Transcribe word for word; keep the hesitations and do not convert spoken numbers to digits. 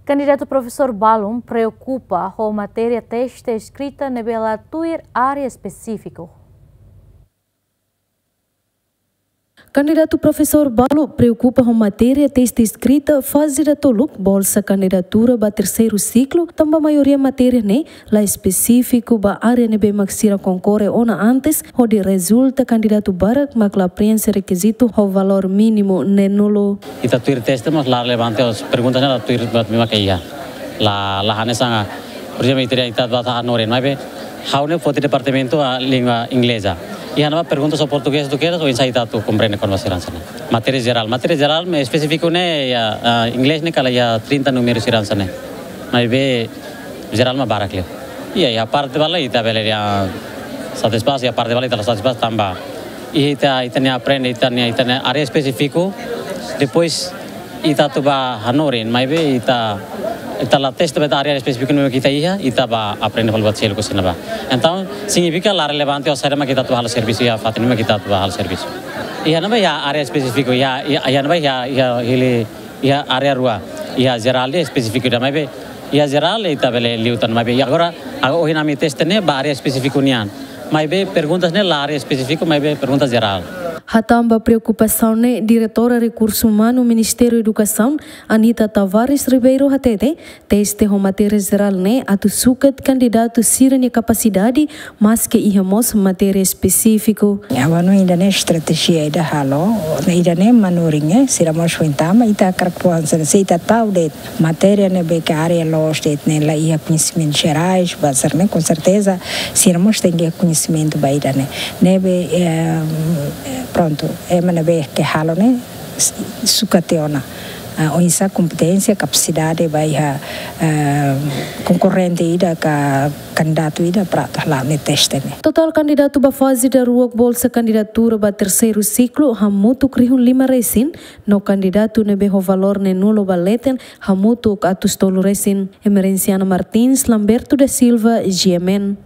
Kandidatu profesór balun preokupa ho matéria teste eskrita ne'ebé la tuir área espesífiku. Kandidatu profesór balu preokupa ho matéria teste eskrita faze datoluk bolsa kandidatura ba terseiru siklu, tanba maioria matéria ne'e la espesífiku ba área ne'ebé mak sira konkorre ona antes, hodi rezulta kandidatu barak mak la prienxe rekizitu ho valór mínimu ne'e nulu. Ita tuir teste, mas la relevante, os perguntas ne'e la tuir ba mima ke iha. La, la hanesan, por ezemplu, ita, ita ba hanorin, maibé ha'u ne'e foti departamentu ba língua ingleza. Iha ne'ebá pergunta só portugés duké, oinsá ita atu komprende kona-ba sira hanesan ne'e. Matéria jerál, matéria jerál, maibé espesífiku ne'e iha, ah, inglés ne'e kala iha trinta númeru sira hanesan ne'e. Maibé jerál mak barak liu. Iha, iha parte balu ita bele dehan satisfás, iha parte balu ita la satisfás tanba iha ita, ita-nia aprende, ita-nia, ita-nia área espesífiku. Depois ita atu ba hanorin, maibé ita, ita la teste ba ita área espesífiku ne'ebé ita iha, ita ba aprende fali buat seluk husi ne'ebá. Entaun, signifika la relevante oinsá mak ita atu halo servisu iha fatin ne'ebé mak ita atu ba halo servisu. Iha ne'ebá iha área espesífiku, iha, iha, iha ne'ebá iha, iha hili, iha área rua, iha jerál de'it espesífiku de'it, maibé iha jerál ita bele liután, maibé agora, agora ohin ami teste ne'e ba área espesífiku nian. Maibé perguntas ne'e la área espesífiku, maibé perguntas jerál. Hatán ba preokupasaun ne'e, Diretora Rekursu Umanu Ministériu Edukasaun, Anita Tavares Ribeiro, hatete, teste ho matéria jerál ne'e atu sukat kandidatu sira-nia kapasidade, maske iha mós matéria espesífiku. Agora no ida-ne'e estratéjia ida halo, no ida-ne'e manorin, eh, sira mós foin tama, ita hakarak fó hanesan ne'e, se ita tau de'it matéria ne'ebé ke área loos de'it ne'e la iha koñesimentu jerais ba sira ne'e, com certeza sira mós tenke iha koñesimentu ba ida-ne'e. Ne'ebé, eh, prontu, ema ne'ebé ke halo ne'e, s-, sukat tiha ona, ah, oinsá kompeténsia, kapasidade ba iha, eh, konkorrente ida ka kandidatu ida para atu hala'o nia teste ne'e. Totál kandidatu ba faze daruak bolsa kandidatura ba terseiru siklu hamutuk rihun lima resin, no kandidatu ne'ebé ho valór ne'e nulu ba leten hamutuk atus tolu resin. Emerenciana Martins, Lamberto da Silva, G M N.